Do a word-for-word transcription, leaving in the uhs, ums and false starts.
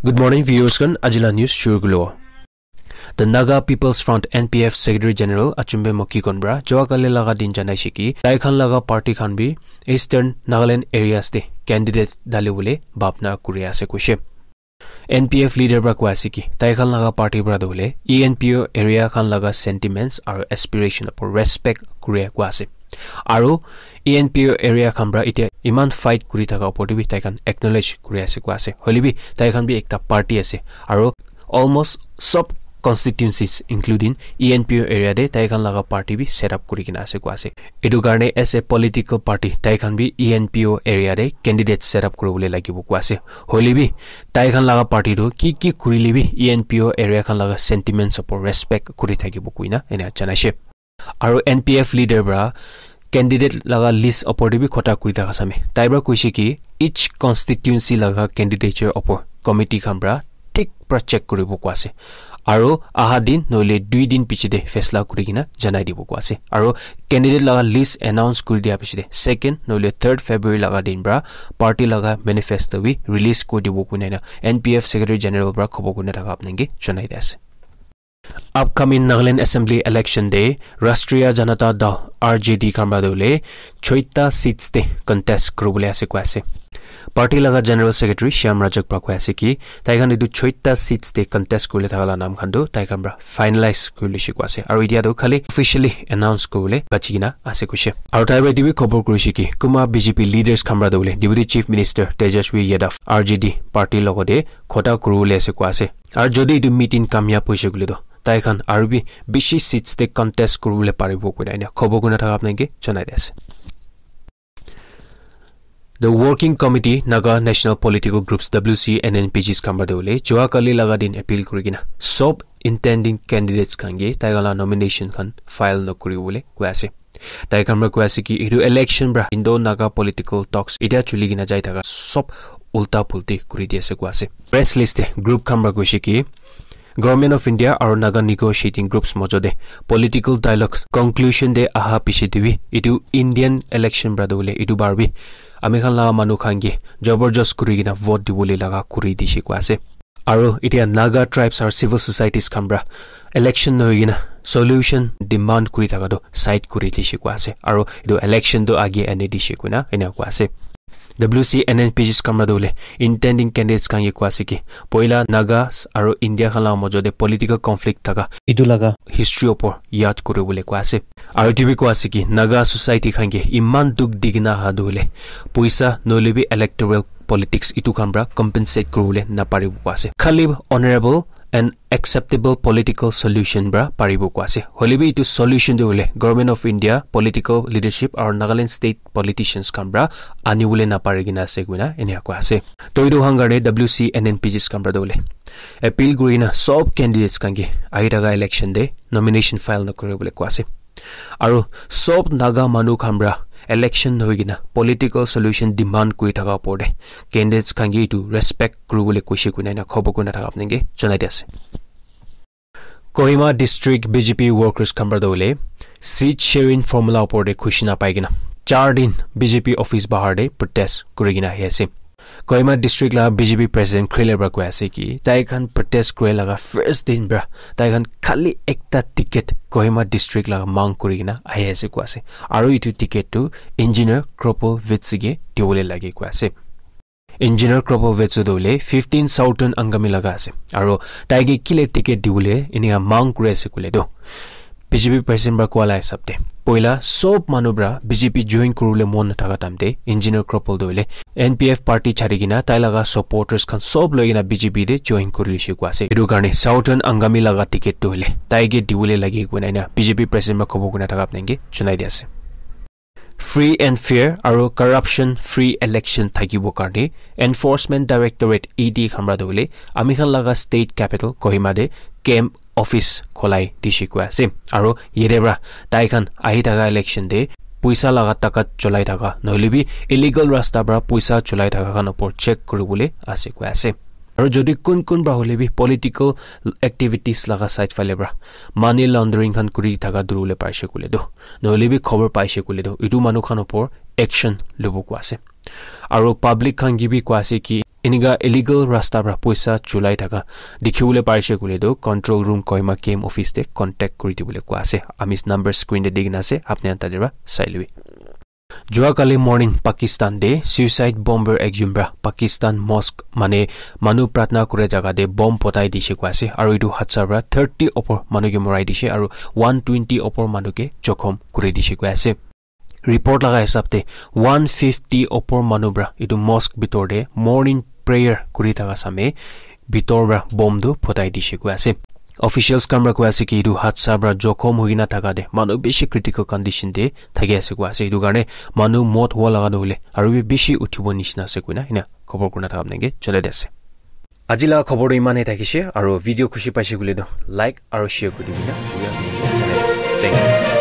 Good morning, viewers khan. Ajila news shuru kulo. The Naga People's Front, N P F, Secretary General Achumbe Mokikon pra Joa Kali laga din janaishe ki tai khan laga party khan bi Eastern Nagaland areas te candidates dali bole bhabna kuri ase koishe. N P F leader pra koi ase ki tai khan laga party pra tu hole E N P O area khan laga sentiments aru aspiration upor respect kuri koi ase. Aru E N P O area khan pra itia iman fight kuri thaka upor te bi tai khan acknowledge kuri ase koi ase. Hoile bi tai khan bi ekta party ase. Aru almost sob constituencies including E N P O area te tai khan laga party bi set up kuri kena ase koi ase. Etu karne as a political party tai khan bi E N P O area te candidate set up kuri bole lagibo koi ase. Hoile bi tai khan laga party tu ki ki kurile bi E N P O area khan laga sentiments upor respect kuri thakibo koina ena janaishe. Aru N P F leader pra candidate laga list upor te bi khota kuri thaka same. Tai pra koishe ki each constituency laga candidature upor committee khan pra thik pra check kuribo koi ase. Aru aha din nohole dui din piche te faisla kuri kena janai dibo koi ase. Aru candidate laga list announce kuri dia piche te second nohole third February laga din pra party laga manifesto bi release kuri dibo koina N P F Secretary General pra khobo koina thaka apnange janai di ase. Upcoming Nagaland Assembly election te Rashtriya Janata Dal, R J D, khan pra tu hole choita seats te contest kuri bole ase koi ase. Party laga General Secretary Shyam Rajak pra koi ase ki tai khan etu choita seats te contest kuri bole thaka la naam khan tu tai khan pra finalize kuri lishe koi ase. Aru itia tu khali officially announce kuri bole bachi kena ase koishe. Aru tai pra etu bi khobor kurishe ki kunba B J P leaders khan pra tu hole Deputy Chief Minister Tejashwi Yadav, R J D party logote khota kuri bole ase koi ase. Aru jodi etu meeting kamyab hoise koile toh tai khan aru bi bishi seats te contest kuribole paribo koina ena khobo koina thaka apnange janai di ase. The Working Committee Naga National Political Groups, W C N N P Gs, khan pra tu hole Joa Kali laga din appeal kuri kena sob intending candidates khan ke tai khan la nomination khan file no kuribole koi ase. Tai khan pra koi ase ki etu election pra Indo Naga political talks itia chuli kena jai thaka sob ulta pulti kuri di ase koi ase. Press list te group khan pra koishe ki Government of India aru Naga negotiating groups mojo te political dialogues conclusion te aha piche te bi etu Indian election pra tu hole etu bar bi ami khan la manu khan ke jabardast kuri kena vote dibole laga kuri dishe koi ase. Aru itia Naga tribes aru civil societies khan pra election nohoi kena solution demand kuri thaka tu side kuri dishe koi ase. Aru etu election tu age ani dishe koina ena koi ase. W C N N P Gs khan pra tu hole intending candidates khan ke koi ase ki poila Nagas aru India khan la mojo te political conflict thaka etu laga history upor yad kuribole koi ase. Aru etu bi koi ase ki Naga society khan ke iman dukh di kena aha tu hole poisa nohole bi electoral politics etu khan pra compensate kuribole naparibo koi ase. Khali honourable and acceptable political solution pra paribo koi ase. Hoile bi etu solution tu hole Government of India political leadership aru Nagaland state politicians khan pra anibole napari kena ase koina ena koi ase. To etu khan karne W C N N P Gs khan pra tu hole appeal kuri kena sob candidates khan ke ahi thaka election te nomination file no kuribole koi ase. Aru sob Naga manu khan pra election nohoi kena political solution demand kuri thaka upor te candidates khan ke etu respect kuribole koishe koina ena khobo koina thaka apnange janai di ase. Kohima District B J P workers khan pra tu hole seat sharing formula upor te khushi napai kena char din B J P office bahar te protest kuri kena ahi ase. Kohima District la B J P President Khrile pra koi ase ki tai khan protest kure laga first din pra tai khan khali ekta ticket Kohima District laga mang kuri kena ahi ase koi ase. Aru etu ticket tu Engineer Kropol Vetsige dibole lage koi ase. Engineer Kropol Vetsu tu hole fifteen Southern Angami laga ase. Aru tai ke kile ticket dibole enia mang kuri ase koile tu B J P president pra koa la hisab te poila sob manu pra B J P join kuribole mon nathaka time te Engineer Kropol tu hole N P F party chari kena tai laga supporters khan sob loi kena B J P te join kuri lishe koi ase. Etu karne Southern Angami laga ticket tu hole tai ke dibole lage koina ena B J P president pra khobo koina thaka apnange janai di ase. Free and fair aru corruption free election thakibo karne Enforcement Directorate, E D, khan pra tu hole ami khan laga state capital Kohima te camp office kholai dishe koi ase. Aru yate pra tai khan ahi thaka election te poisa laga takat cholai thaka nohole bi illegal rasta pra poisa cholai thaka khan upor check kuribole ase koi ase. Aru jodi kun kun pra hole bi political activities laga side phale pra money laundering khan kuri thaka duribole paishe koile tu nohole bi khobor paishe koile tu etu manu khan upor action lobo koi ase. Aru public khan ke bi koi ase ki Enika illegal rasta pra poisa chulai thaka dikhiwole parise koile toh control room Kohima K M office te contact kuri dibole koa ase. Ami number screen te di kena ase, apni khan tate pra sai lobi. Jua kali morning Pakistan te suicide bomber ekjon pra Pakistan mosque mane manu pratna kure jaga te bomb potai dishe koa ase, aru etu hatsar pra thirty opor manu ke morai dishe aru one twenty opor manu ke jokhom kuri dishe koa ase. Report laga hisab te one fifty opor manu pra etu mosque bitor te morning prayer kuri thaka same bitor pra bomb tu photai dishe koa ase. Officials khan pra koa ase ki etu hatsar pra jokhom hoikena thaka te manu bishi critical condition te thaki ase koa ase. Etu karne manu mot howa laga tu hoile aru bi bishi uthibo nishina ase koina ena khobor kurina thaka apni ke janai di ase. Aji laga khobor tu iman he thakishe, aru video khushi paise koile tu like aru share kuri dibina. Thank you.